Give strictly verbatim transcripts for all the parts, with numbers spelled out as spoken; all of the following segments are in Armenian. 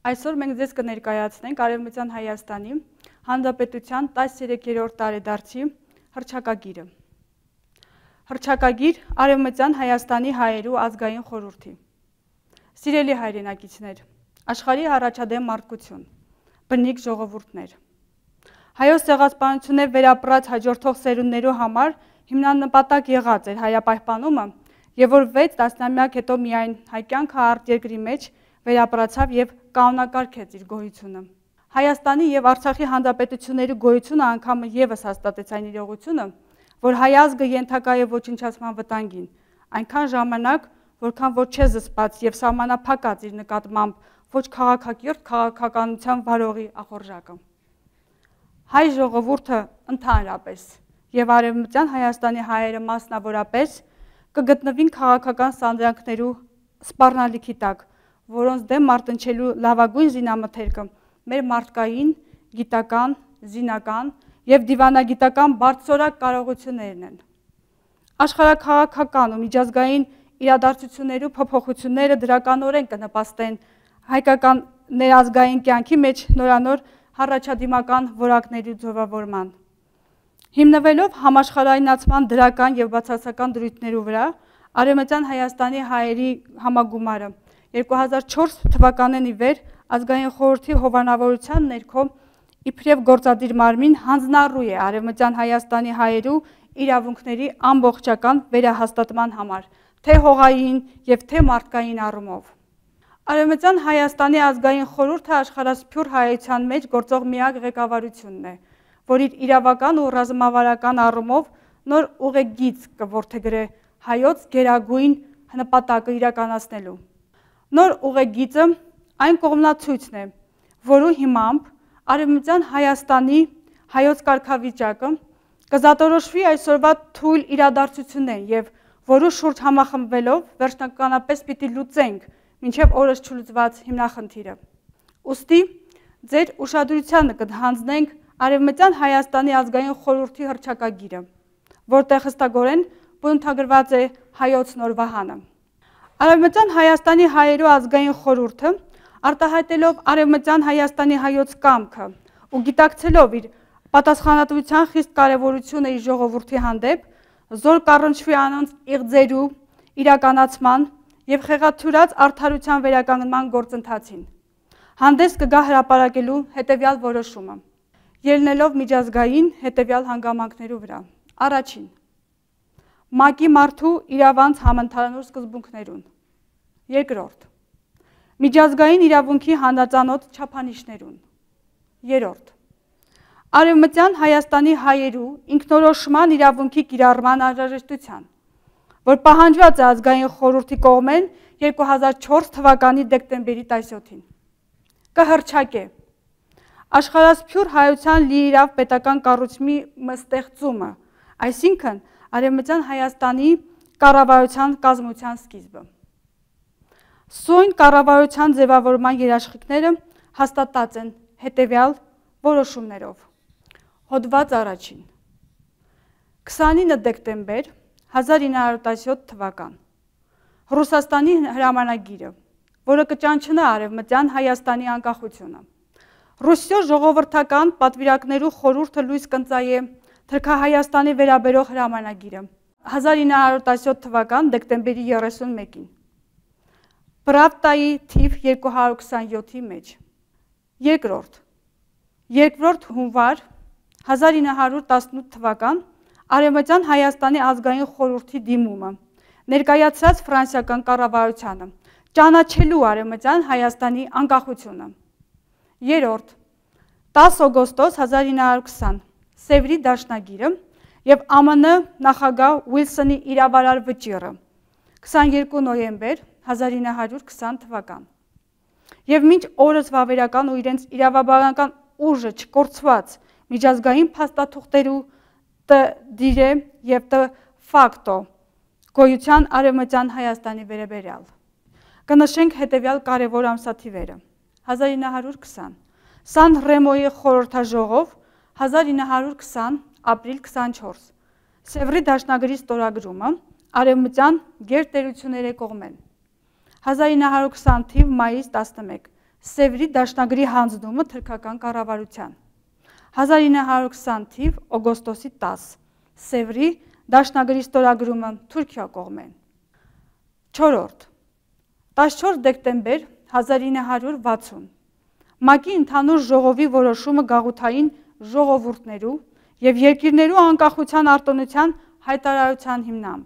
Այսօր մենք ձեզ կներկայացնենք Արևմտյան Հայաստանի Հանրապետության տասներեքերորդ տարեդարձի հռչակագիրը։ Հռչակագիր Արևմտյան Հայաստանի հայերու ազգային խորհրդի։ Սիրելի հայրենակիցներ, աշխարհի առաջադեմ մարդկություն, բնիկ ժողովուրդներ։ Հայոց ցեղասպանությունը վերապրած հաջորդող սերունդներու համար հիմնանպատակ եղած էր հայապահպանումը, եւ որ վեց տասնամյակ հետո միայն հայ կյանքը արտերկրի մեջ վերապրացավ եւ կանոնակարգեց իր գոյությունը։ Հայաստանի եւ Արցախի հանրապետությունների գոյությունը անգամ եւս հաստատեց այն իրողությունը, որ հայ ազգը ենթակա է ոչնչացման վտանգին, այնքան ժամանակ, որքան որ չէ զսպած եւ սահմանափակած իր նկատմամբ ոչ քաղաքակիրթ քաղաքականության վարողի ախորժակը։ Հայ ժողովուրդը ընդհանրապես եւ Արևմտյան Հայաստանի հայերը մասնավորապես կգտնվին քաղաքական սանդրանքներու սպառնալիքի տակ, որոնց դեմ մարտնչելու լավագույն զինամթերքը մեր մարդկային, գիտական, զինական եւ դիվանագիտական բարձրորակ կարողություններն են։ Աշխարհաքաղաքական ու միջազգային իրադարձություններու փոփոխությունները դրականորեն կնպաստեն հայկական ներազգային կյանքի մեջ նորանոր հառաջադիմական որակների ձևավորման։ Հիմնվելով համաշխարհայնացման դրական եւ բացասական դրույթներու վրա, Արևմտյան Հայաստանի հայերի համագումարը երկու հազար չորս թվականին ի վեր ազգային խորհրդի հովանավորության ներքո իբրև գործադիր մարմին հանձնառու է Արևմտյան Հայաստանի հայերու իրավունքների ամբողջական վերահաստատման համար, թե հողային եւ թե մարդկային առումով։ Արևմտյան Հայաստանի ազգային խորհուրդը աշխարհասփյուր հայության մեջ գործող միակ ղեկավարությունն է, որ իր իրավական ու ռազմավարական առումով նոր ուղեգիծ կորդեգրե հայոց գերագույն նպատակը իրականացնելու։ Նոր ուղեգիծը այն կողմնացույցն է, որու հիմամբ Արևմտյան Հայաստանի հայոց կարգավիճակը կզատորոշվի այսօրվա թույլ իրադարձություններն եւ որու շուրջ համախմբվելով վերջնականապես պիտի լուծենք մինչեւ օրս չլուծված հիմնախնդիրը։ Ուստի ձեր ուշադրությանը կհանձնենք Արևմտյան Հայաստանի ազգային խորհրդի հռչակագիրը, որտեղ հստակորեն բնութագրված է հայոց նոր վահանը։ Արևմտյան Հայաստանի հայերու ազգային խորհուրդը արտահայտելով Արևմտյան Հայաստանի հայոց կամքը ու գիտակցելով իր պատասխանատվության խիստ կարևորությունը իր ժողովրդի հանդեպ, զոր կառնչվի անոնց իղձերու իրականացման եւ խեղաթյուրած արդարության վերականգնման գործընթացին։ Հանդես կգա հրապարակելու հետեւյալ որոշումը, ելնելով միջազգային հետեւյալ հանգամանքներու վրա։ Առաջին, ՄԱԿ-ի մարդու իրավանց համընդհանուր սկզբունքներուն։ Երկրորդ, միջազգային իրավունքի հանրածանոթ չափանիշներուն։ Երրորդ, Արևմտյան Հայաստանի հայերու ինքնորոշման իրավունքի կիրառման անհրաժեշտության, որ պահանջված է ազգային խորհրդի կողմեն երկու հազար չորս թվականի դեկտեմբերի տասնյոթին։ Կհռչակե աշխարհասփյուր հայության լիիրավ պետական կառույցի ստեղծումը, այսինքն Արևմտյան Հայաստանի կառավարության կազմության սկիզբը։ Սույն կառավարության ձևավորման երաշխիքները հաստատած են հետևյալ որոշումներով։ Հոդված առաջին։ քսանինը դեկտեմբեր հազար ինը հարյուր տասնյոթ թվական Ռուսաստանի հրամանագիրը, որը կճանչնա Արևմտյան Հայաստանի անկախությունը։ Ռուսիո ժողովրդական պատվիրակներու խորհուրդը լույս կընծայե Թրքահայաստանի վերաբերող հրամանագիրը հազար ինը հարյուր տասնյոթ թվական դեկտեմբերի երեսունմեկին։ Պրավդայի թիվ երկու հարյուր քսանյոթի մեջ։ Երկրորդ։ Երկրորդ հունվար հազար ինը հարյուր տասնութ թվական Արևմտյան Հայաստանի ազգային խորհրդի դիմումը ներկայացրած ֆրանսիական կառավարությանը ճանաչելու Արևմտյան Հայաստանի անկախությունը։ Երրորդ։ տասը օգոստոս հազար ինը հարյուր քսան Սևրի դաշնագիրը եւ ԱՄՆ նախագահ Ուիլսոնի իրավարար վճիռը քսաներկու նոյեմբեր հազար ինը հարյուր քսան թվական։ Եվ մինչ օրս վավերական ու իրենց իրավաբանական ուժը չկորցված միջազգային փաստաթուղթերու տ դիրե եւ տ ֆակտո գոյության Արևմտյան Հայաստանի վերաբերյալ։ Կնշենք հետեւյալ կարևոր ամսաթիվերը։ հազար ինը հարյուր քսան Սան Ռեմոյի խորհրդաժողով հազար ինը հարյուր քսան ապրիլ քսանչորս Սևրի դաշնագրի ստորագրումը Արևմտյան գերտերությունների կողմեն հազար ինը հարյուր քսան թիվ մայիս տասնմեկ Սևրի դաշնագրի հանձնումը թրքական կառավարության։ հազար ինը հարյուր քսան թիվ օգոստոսի տասը Սևրի դաշնագրի ստորագրումը Թուրքիա կողմեն։ Չորրորդ տասնչորս դեկտեմբեր հազար ինը հարյուր վաթսուն ՄԱԿ-ի ընդհանուր ժողովի որոշումը գաղութային ժողովուրդներու և երկիրներու անկախության արտոնության հայտարարության հիմնամբ։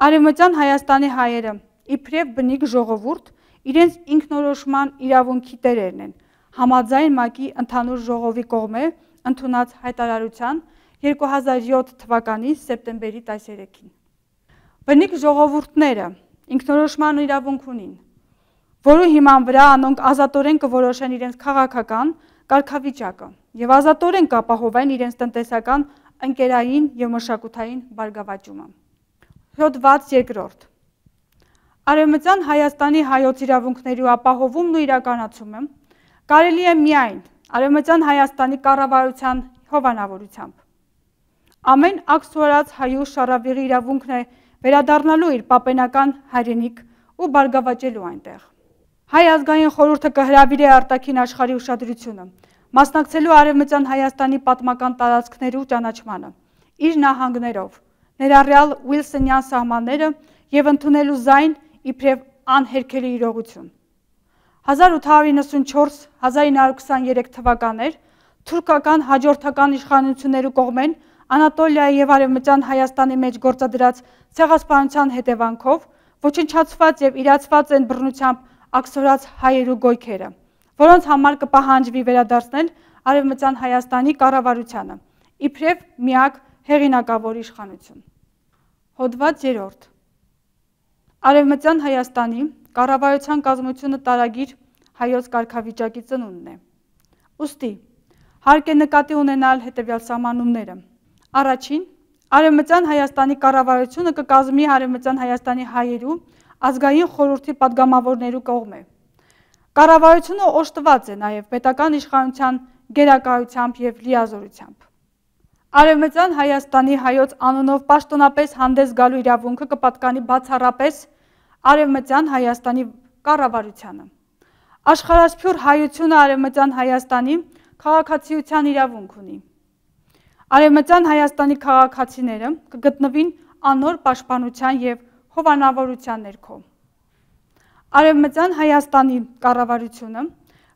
Արևմտյան Հայաստանի հայերը իբրև բնիկ ժողովուրդ իրենց ինքնորոշման իրավունքի տերերն են, համաձայն ՄԱԿ-ի ընդհանուր ժողովի կողմէ ընդունած հայտարարության երկու հազար յոթ թվականի սեպտեմբերի տասներեքին։ Բնիկ ժողովուրդները ինքնորոշման իրավունք ունին, որու հիման վրա անոնք ազատորեն կորոշեն իրենց քաղաքական կարգավիճակը և ազատորեն կապահովեն իրենց տնտեսական, ընկերային և մշակութային բարգավաճումը։ Հոդված երկրորդ Արևմտյան Հայաստանի հայոց իրավունքներու ապահովումն ու իրականացումը կարելի է միայն Արևմտյան Հայաստանի կառավարության հովանավորությամբ։ Ամեն ակսուարած հայու շառավիղի իրավունքն է վերադառնալու իր պապենական հայրենիք ու բարգավաճելու այնտեղ։ Հայ ազգային խորհուրդը կհրավիրի արտաքին աշխարհի ուշադրությունը, մասնակցելու Արևմտյան Հայաստանի պատմական տարածքներու ճանաչմանը, իր նահանգներով, ներառյալ Ուիլսոնյան սահմանները և ընդունելու զայն իբրև անհերքելի իրողություն։ հազար ութ հարյուր իննսունչորս - հազար ինը հարյուր քսաներեք թվականներ թուրքական հաջորդական իշխանություններու կողմեն Անատոլիայի և Արևմտյան Հայաստանի մեջ գործադրած ցեղասպանության հետևանքով ոչնչացված և իրացված են բռնությամբ ակսորած հայերու գոյքերը, որոնց համար կպահանջվի վերադարձնել Արևմտյան Հայաստանի կառավարությանը, իբրև միակ հեղինակավոր իշխանություն։ Հոդված երրորդ Արևմտյան Հայաստանի կառավարության կազմությունը տարագիր հայոց կարգավիճակի ծնունդն է։ Ուստի հարկ է նկատի ունենալ հետևյալ սահմանումները։ Առաջին, Արևմտյան Հայաստանի կառավարությունը կկազմի Արևմտյան Հայաստանի հայերու ազգային խորհրդի պատգամավորներու կողմէ։ Կառավարությունը օժտված է նաև պետական իշխանության գերակայությամբ և լիազորությամբ։ Արևմտյան Հայաստանի հայոց անունով պաշտոնապես հանդես գալու իրավունքը կպատկանի բացառապես Արևմտյան Հայաստանի կառավարությանը։ Աշխարհասփյուր հայությունը Արևմտյան Հայաստանի քաղաքացիության իրավունք ունի։ Արևմտյան Հայաստանի քաղաքացիները կգտնվին անոր պաշտպանության և հովանավորության ներքո։ Արևմտյան Հայաստանի կառավարությունը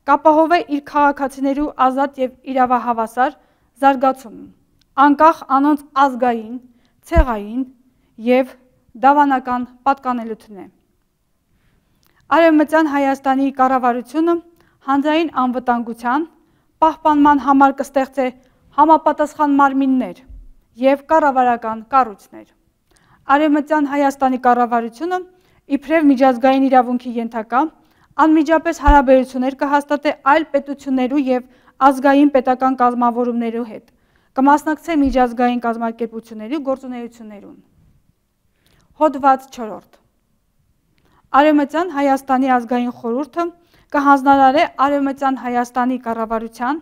կապահովի իր քաղաքացիներու ազատ և իրավահավասար զարգացումը, անկախ անոնց ազգային, ցեղային և դավանական պատկանելությունէ։ Արևմտյան Հայաստանի կառավարությունը հանրային անվտանգության պահպանման համար կստեղծե համապատասխան մարմիններ և կառավարական կառույցներ։ Արևմտյան Հայաստանի կառավարությունը իբրև միջազգային իրավունքի ենթակա անմիջապես հարաբերություններ կհաստատի այլ պետություններու և ազգային պետական կազմավորումներու հետ, կմասնակցի միջազգային կազմակերպություններու գործունեություններուն։ Հոդված չորրորդ Արևմտյան Հայաստանի ազգային խորհուրդը կհանձնարարի Արևմտյան Հայաստանի կառավարության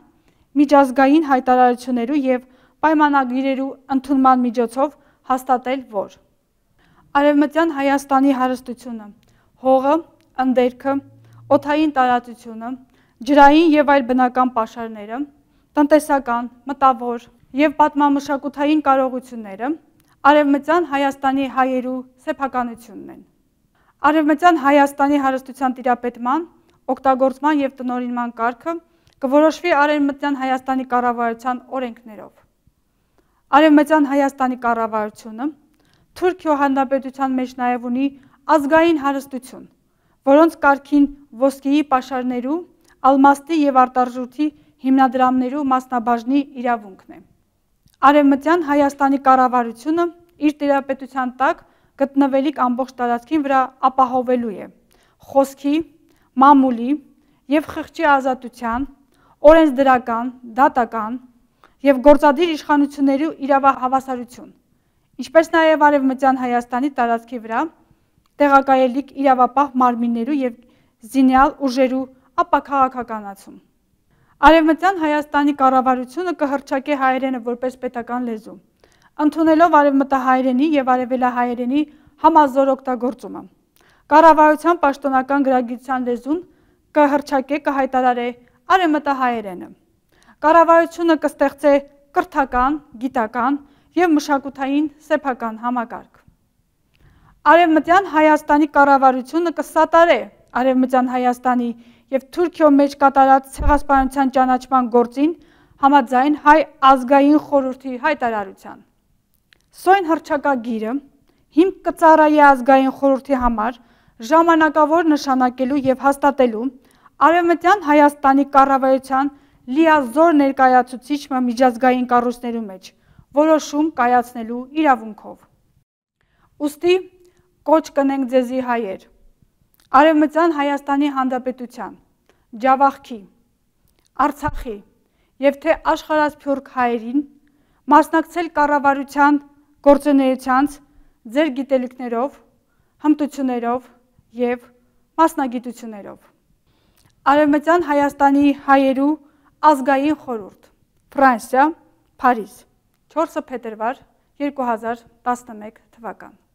միջազգային հայտարարություններու և պայմանագիրերու ընդունման միջոցով հաստատել, որ Արևմտյան Հայաստանի հարստությունը, հողը, ընդերքը, օդային տարածությունը, ջրային և այլ բնական պաշարները, տնտեսական, մտավոր և պատմամշակութային կարողությունները Արևմտյան Հայաստանի հայերու սեփականությունն են։ Արևմտյան Հայաստանի հարստության տիրապետման, օգտագործման և տնօրինման կարգը կորոշվի Արևմտյան Հայաստանի կառավարության օրենքներով։ Արևմտյան Հայաստանի կառավարությունը Թուրքիո Հանրապետության մեջ նաև ունի ազգային հարստություն, որոնց կարգին ոսկիի պաշարներու, ալմաստի և արտարժույթի հիմնադրամներու մասնաբաժնի իրավունքն է։ Արևմտյան Հայաստանի կառավարությունը իր տիրապետության տակ գտնվելիք ամբողջ տարածքին վրա ապահովելու է խոսքի, մամուլի և խղճի ազատության, օրենսդրական, դատական և գործադիր իշխանություններու իրավահավասարություն, ինչպես նաև Արևմտյան Հայաստանի տարածքի վրա տեղակայելիք իրավապահ մարմիններու և զինյալ ուժերու ապաքաղաքականացում։ Արևմտյան Հայաստանի կառավարությունը կհռչակի հայերենը որպես պետական լեզու, ընդունելով արևմտահայերենի և արևելահայերենի համազոր օգտագործումը։ Կառավարության պաշտոնական գրագիտության լեզուն կհրճակե կհայտարարե արևմտահայերենը։ Կառավարությունը կստեղծե կրթական, գիտական և մշակութային սեփական համակարգ։ Արևմտյան Հայաստանի կառավարությունը կսատարե Արևմտյան Հայաստանի և Թուրքիո մեջ կատարած ցեղասպանության ճանաչման գործին համաձայն Հայ ազգային խորհրդի հայտարարության։ Սոյն հռչակագիրը հիմք կծառայի ազգային խորհրդի համար ժամանակավոր նշանակելու և հաստատելու Արևմտյան Հայաստանի կառավարության լիազոր ներկայացուցիչ միջազգային կառույցներու մեջ որոշում կայացնելու իրավունքով։ Ուստի կոչ կնենք ձեզի հայեր, Արևմտյան Հայաստանի Հանրապետության, Ջավախքի, Արցախի և թե աշխարհասփյուռք հայերին մասնակցել կառավարության գործունեությանց ձեր գիտելիքներով, հմտություններով և մասնագիտություններով։ Արևմտյան Հայաստանի հայերու ազգային խորհուրդ, Ֆրանսիա, Փարիզ, չորսը փետրվար երկու հազար տասնմեկ թվական։